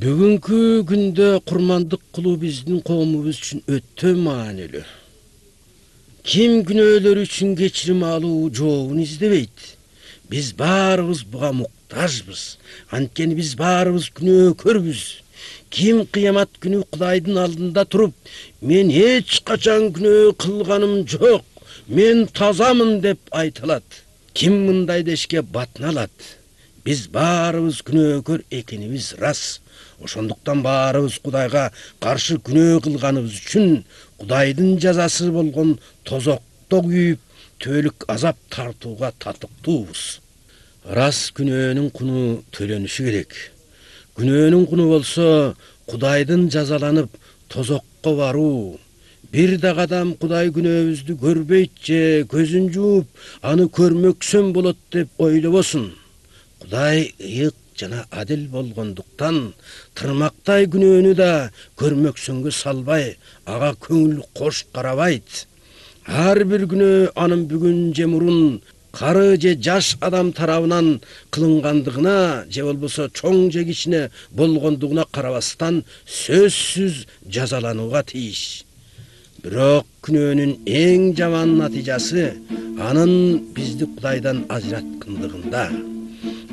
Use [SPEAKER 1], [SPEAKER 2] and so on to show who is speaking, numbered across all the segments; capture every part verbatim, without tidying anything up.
[SPEAKER 1] Бүгүнкү күндө курмандык кылуу биздин коомубуз үчүн өтө маанилүү. Ким күнөөлөр үчүн кечирим алуу жообун издебейт. Биз баарыбыз буга муктажбыз. Анткени биз баарыбыз күнөөкөрбүз. Ким кыямат күнү Кудайдын алдында туруп, мен эч качан күнөө кылганым жок, мен тазамын деп айта алат. Ким мындай дешке батына алат? Биз баарыбыз күнөөкөр экенибиз рас. Ошондуктан баарыбыз Кудайга каршы күнөө кылганыбыз үчүн Кудайдын жазасы болгон тозокто күйүп, түбөлүк азап тартууга татыктуубуз. Рас күнөөнүн куну төлөнүшү керек. Күнөөнүн куну болсо Кудайдын жазаланып тозокко баруу. Бир да кадам Кудай күнөөбүздү көрбөйт же көзүн жууп, аны көрмөксөм болот деп ойлобосун. Кудай ыйык жана адил болгондуктан тырмактай күнөөнү да көрмөксөнгө салбай, ага көңүл кош карабайт. Ар бир күнөө анын бүгүн же мурун кары же жаш адам тарабынан кылынгандыгына же болбосо чоң же кичине болгондугуна карабастан сөзсүз жазаланууга тийиш. Бирок күнөөнүн эң жаман натыйжасы анын бизди Кудайдан ажыраткандыгында.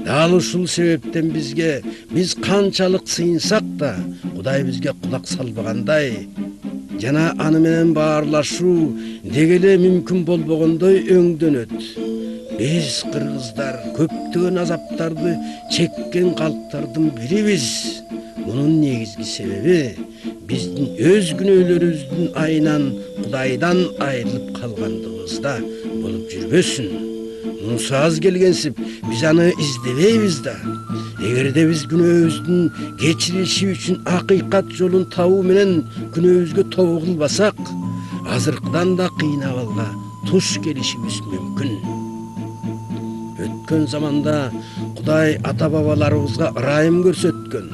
[SPEAKER 1] Дал ушул себептен бизге биз канчалык сыйынсак да Кудай бизге кулак салбагандай жана аны менен баарлашуу дегеле мүмкүн болбогондой өңдөнөт. Биз кыргыздар көптөгөн азаптарды чеккен калктардын бирибиз. Мунун негизги себеби биздин өз күнөөлөрүбүздүн айынан Кудайдан айрылып калгандыгыбызда болуп жүрбөсүн. Мунусу аз келгенсип, биз аны издебейбиз да. Эгерде биз күнөөбүздүн кечирилиши үчүн акыйкат жолун табуу менен күнөөбүзгө тобо кылбасак, азыркыдан да кыйын абалга туш келишибиз мүмкүн. Өткөн заманда Кудай ата-бабаларыбызга ырайым көрсөткөн.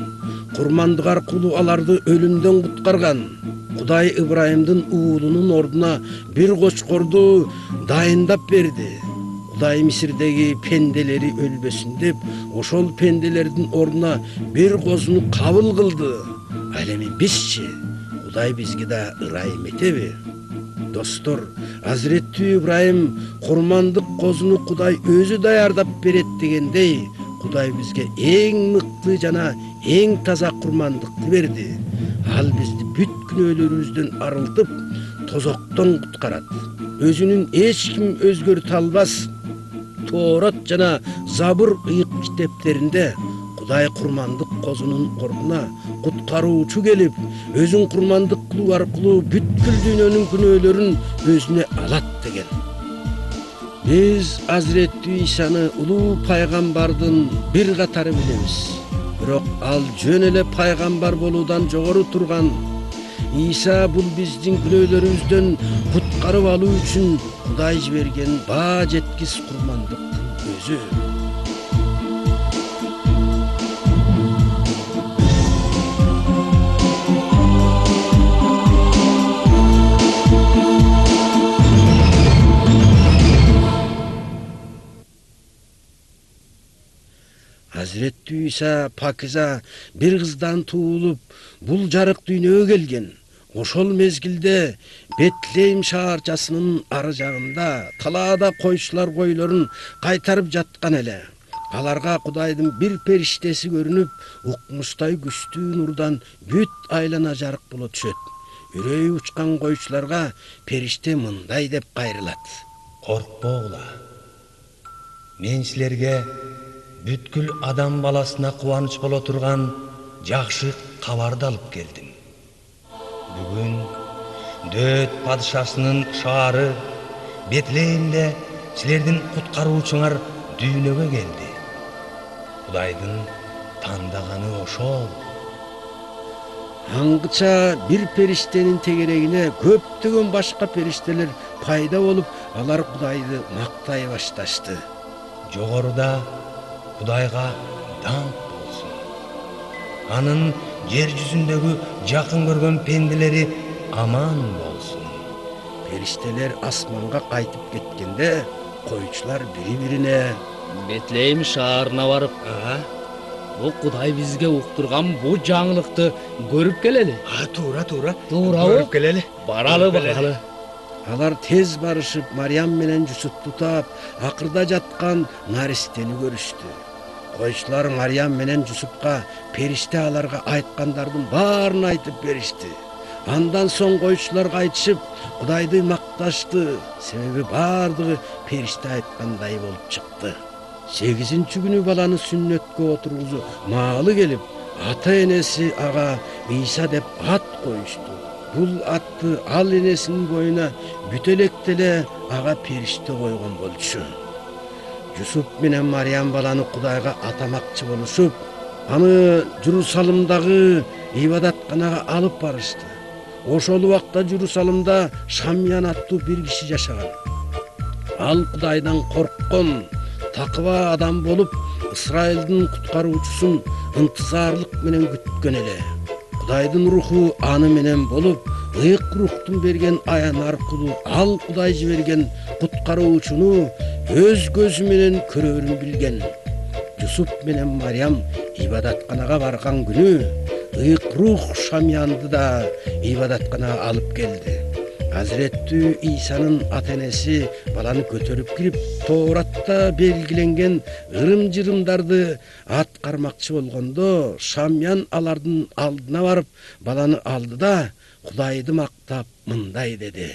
[SPEAKER 1] Курмандык аркылуу аларды өлүмдөн куткарган. Кудай Ибрайымдын уулунун ордуна бир кочкорду дайындап берди. Кудай Мисирдеги пенделери өлбөсүн деп, ошол пенделердин ордуна бир козуну кабыл кылды. Ал эми бизчи? Кудай бизге да ырайым этеби? Достор, Азирети Ибрайым курмандык козуну Кудай өзү даярдап берет дегендей, Кудай бизге эң мыкты жана эң таза курмандыкты берди. Ал бизди бүт күнөөлөрүбүздөн арылтып, тозоктон куткарат. Өзүнүн эч ким өзгөртө албас Тоорат жана Забыр ыйык китептеринде Кудай курмандык козунун ордуна куткаруучу келип, өзүн курмандык кылуу аркылуу бүткүл дүйнөнүн күнөөлөрүн өзүнө алат деген. Биз Азирети Исаны улуу пайгамбардын бир катары билебиз. Бирок ал жөн эле пайгамбар болуудан жогору турган. Иса бул биздин күнөөлөрүбүздөн куткарып алуу үчүн Кудай жиберген баа жеткис курмандыктын өзү. Азирети Иса пакиза бир кыздан туулуп, бул жарык дүйнөгө келген. Ошол мезгилде Бетлейм шаарчасынын ары жагында талаада койчулар койлорун кайтарып жаткан эле. Аларга Кудайдын бир периштеси көрүнүп, укмуштай күчтүү нурдан бүт айлана жарык боло түшөт. Үрөйү учкан койчуларга периште мындай деп кайрылат:
[SPEAKER 2] Коркпогула. Мен силерге бүткүл адам баласына кубаныч боло турган жакшы кабарды алып келдим. Бүгүн Дөт падышасынын шаары Бетлеймде силердин куткаруучуңар дүйнөгө келди. Кудайдын тандаганы ошол.
[SPEAKER 1] Аңгыча бир периштенин тегерегине көптөгөн башка периштелер пайда болуп, алар Кудайды мактай башташты.
[SPEAKER 2] Жогоруда Кудайга даңк болсун. Анын жер жүзүндөгү жакын көргөн пенделери аман болсун.
[SPEAKER 1] Периштелер асманга кайтып кеткенде, койчулар бири-бирине:
[SPEAKER 3] Бетлейм шаарына барып,
[SPEAKER 2] а
[SPEAKER 3] Бу Кудай бизге уктурган бу жаңылыкты көрүп келели.
[SPEAKER 2] А, туура, туура.
[SPEAKER 3] Туурабы?
[SPEAKER 2] Көрүп келели.
[SPEAKER 3] Баралы,
[SPEAKER 2] Көрүп келели.
[SPEAKER 3] баралы.
[SPEAKER 1] Алар тез барышып Мариям менен Жусупту таап, акырда жаткан наристени көрүштү. Койчулар Мариям менен Жусупка периште аларга айткандардын баарын айтып беришти. Андан соң койчуларга айтышып, Кудайды макташты, себеби баардыгы периште айткандай болуп чыкты. сегизинчи күнү баланы сүннөткө отургузуп маалы келип, ата-энеси ага Ийса деп ат коюшту. Бул атты ал энесинин боюна бүтөлөктө эле ага периште койгон болчу. Жусуп менен Мариям баланы Кудайга атамакчы болушуп, аны Журусалымдагы ибадатканага алып барышты. Ошол убакта Журусалымда Шамьян аттуу бир киши жашаган. Ал Кудайдан корккон, такыба адам болуп, Исрайылдын куткаруучусун ынтызарлык менен күткөн эле. Кудайдын руху аны менен болуп, ыйык рухтун берген аян аркылуу ал Кудай жиберген куткаруучуну өз көзү менен көрөрүн билген. Жусуп менен Мариям ибадатканага барган күнү ыйык рух Шамьянды да ибадатканага алып келди. Азиреттүү Ийсанын ата-энеси баланы көтөрүп кирип, Тооратта белгиленген ырым-жырымдарды аткармакчы болгондо, Шамьян алардын алдына барып, баланы алды да Кудайды мактап мындай деди: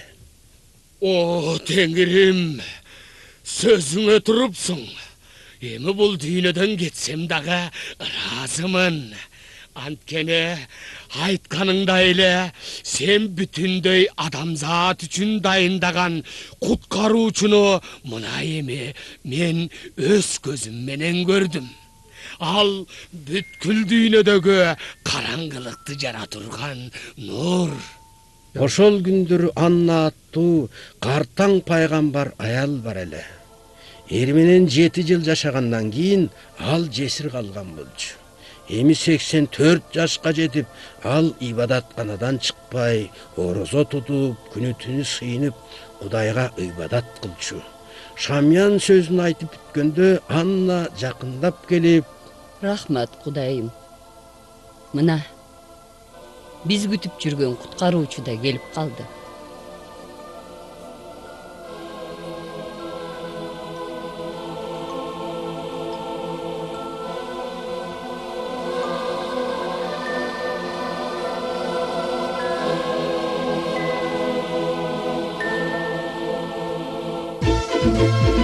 [SPEAKER 3] О, Теңирим, сөзүңө турупсуң. Эми бул дүйнөдөн кетсем дагы ыраазымын. Анткени айтканыңдай эле сен бүтүндөй адамзат үчүн дайындаган куткаруучуну мына эми мен өз көзүм менен көрдүм. Ал бүткүл дүйнөдөгү караңгылыкты жара турган нур.
[SPEAKER 1] Ошол күндөрү Анна аттуу картаң пайгамбар аял бар эле. Эр менен жети жыл жашагандан кийин ал жесир калган болчу. Эми сексен төрт жашка жетип, ал ибадатканадан чыкпай, орозо тутуп, күнү түнү сыйынып, Кудайга ибадат кылчу. Шамьян сөзүн айтып бүткөндө Анна жакындап келип:
[SPEAKER 4] Рахмат, Кудайым. Мына, биз күтүп жүргөн куткаруучу да келип калды.
[SPEAKER 5] Thank you.